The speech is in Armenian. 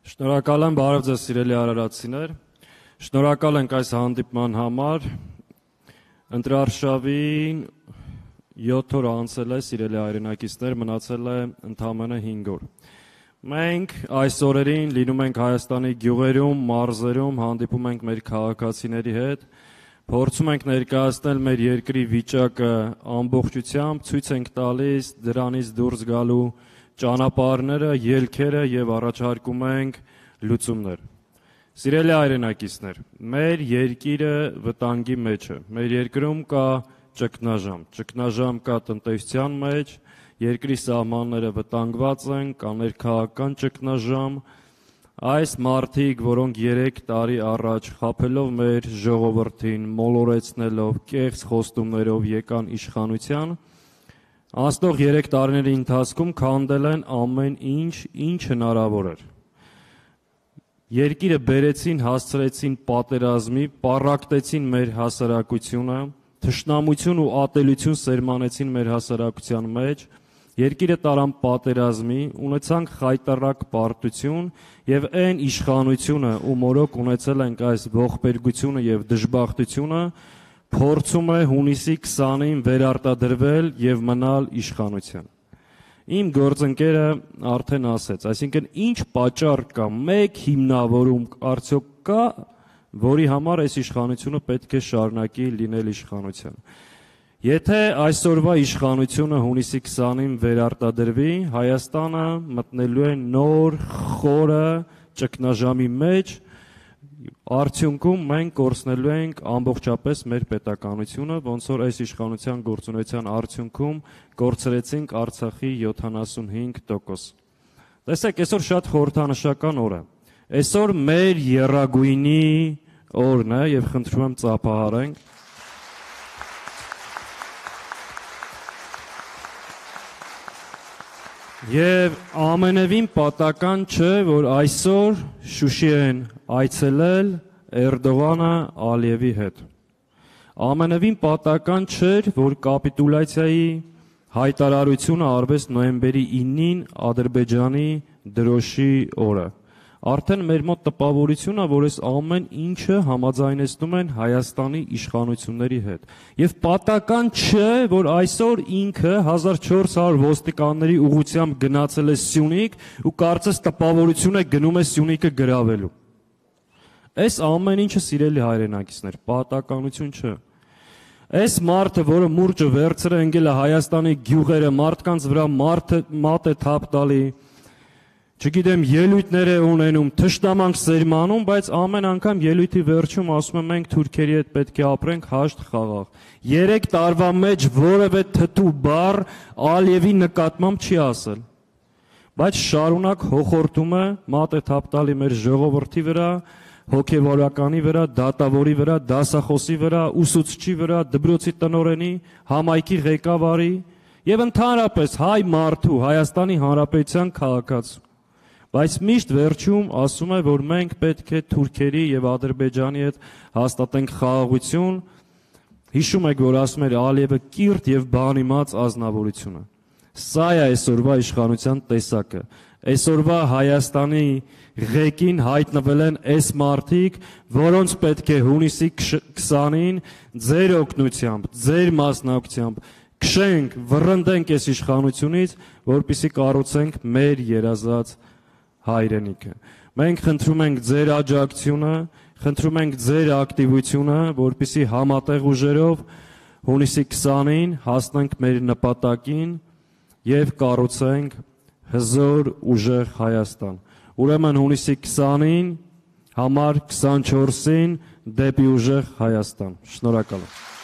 Շնորհակալ եմ, բարև ձեզ սիրելի արարածիներ, շնորհակալ ենք այս հանդիպման համար, ընտրարշավին 7 օր անցել է, սիրելի հայրենակիցներ, մնացել է ընդամենը 5 օր։ Մենք այս օրերին լինում ենք Հայաստանի գյուղերում, մարզերում, հանդիպում ենք մեր քաղաքացիների հետ, փորձում ենք ներկայացնել մեր երկրի վիճակը ամբողջությամբ, ցույց ենք տալիս դրանից դուրս գալու ճանապարհները, ելքերը եւ առաջարկում ենք լուծումներ։ Սիրելի հայրենակիցներ, մեր երկիրը վտանգի մեջ է։ Մեր երկրում կա ճգնաժամ կա տնտեսության մեջ, երկրի սահմանները վտանգված են, կա ներքաղաքական ճգնաժամ։ Այս մարդիկ, որոնք 3 տարի առաջ խաբելով մեր ժողովրդին, մոլորեցնելով, կեղծ խոստումներով եկան իշխանության, անցնող 3 տարիների ընթացքում քանդել են ամեն ինչ հնարավոր էր։ Երկիրը բերեցին, հասցրեցին պատերազմի, պառակտեցին մեր հասարակությունը, թշնամություն ու ատելություն սերմանեցին մեր հասարակության մեջ, երկիրը տարան պատերազմի, ունեցանք խայտառակ պարտություն եւ այն իշխանությունը, ու մորոք ունեցել ենք այս ողբերգությունը եւ դժբախտությունը, փորձում է հունիսի 20-ին վերարտադրվել եւ մնալ իշխանության։ Իմ գործընկերը արդեն ասեց, այսինքն ինչ պատճառ կա, մեկ հիմնավորում արդյոք կա, որի համար այս իշխանությունը պետք է շարունակի լինել իշխանության։ Եթե այսօրվա իշխանությունը հունիսի 20-ին վերարտադրվի, Հայաստանը մտնելու է նոր խորը ճգնաժամի մեջ, արդյունքում մենք կորցնելու ենք ամբողջապես մեր պետականությունը, ոնց որ այս իշխանության գործունեության արդյունքում կորցրեցինք Արցախի 75%։ Տեսեք, այսօր շատ խորհրդանշական օր է։ Այսօր մեր եռագույնի օրն է եւ խնդրում եմ ծափահարենք։ Եվ ամենևին պատական չէ, որ այսօր Շուշի են այցելել Էրդողանը Ալիևի հետ։ Ամենևին պատական չէր, որ կապիտուլյացիայի հայտարարությունը արվեց նոյեմբերի 9-ին Ադրբեջանի դրոշի օրը։ Արդեն մեր մոտ տպավորություն է, որ այս ամեն ինչը համաձայնեցնում են Հայաստանի իշխանությունների հետ։ Եվ պատական չէ, որ այսօր ինքը 1400 ոստիկանների ուղղությամբ գնացել է Սյունիք ու կարծես տպավորություն է գնում է Սյունիքը գրավելու։ Այս ամեն ինչը, սիրելի հայրենակիցներ, պատականություն չէ։ Այս մարդը, որը մուրճը վերցրել է ընկել է Հայաստանի գյուղերը, մարդկանց վրա մատ է թափ տալի, չգիտեմ, ելույթներ է ունենում, թշնամանք սերմանում, բայց ամեն անգամ ելույթի վերջում ասում եմ մենք թուրքերի հետ պետք է ապրենք հաշտ խաղաղ։ 3 տարվա մեջ որևէ թթու բառ Ալիևի նկատմամբ չի ասել։ Բայց շարունակ հոխորտում է, մատ է թափ տալի մեր ժողովրդի վրա, հոգևորականի վրա, դատավորի վրա, դասախոսի վրա, ուսուցչի վրա, դպրոցի տնօրենի, համայնքի ղեկավարի եւ ընդհանրապես հայ մարդու, Հայաստանի Հանրապետության քաղաքացու։ Բայց միշտ վերջում ասում է, որ մենք պետք է թուրքերի եւ Ադրբեջանի հետ հաստատենք խաղաղություն, հիշում եք, որ ասում էր Ալիևը կիրթ եւ բանիմաց ազնվորությունը։ Սա է այսօրվա իշխանության տեսակը։ Այսօրվա Հայաստանի ղեկին հայտնվել են այս մարդիկ, որոնց պետք է հունիսի 20-ին ձեր օգնությամբ, ձեր մասնակցությամբ քշենք, վռնդենք այս իշխանությունից, որպեսզի կառուցենք մեր երազած հայրենիքը։ Մենք խնդրում ենք ձեր աջակցությունը, խնդրում ենք ձեր ակտիվությունը, որպեսզի համատեղ ուժերով հունիսի 20-ին հասնենք մեր նպատակին եւ կառուցենք հզոր ուժեղ Հայաստան։ Ուրեմն հունիսի 20-ին, համար 24-ին դեպի ուժեղ Հայաստան։ Շնորհակալ եմ։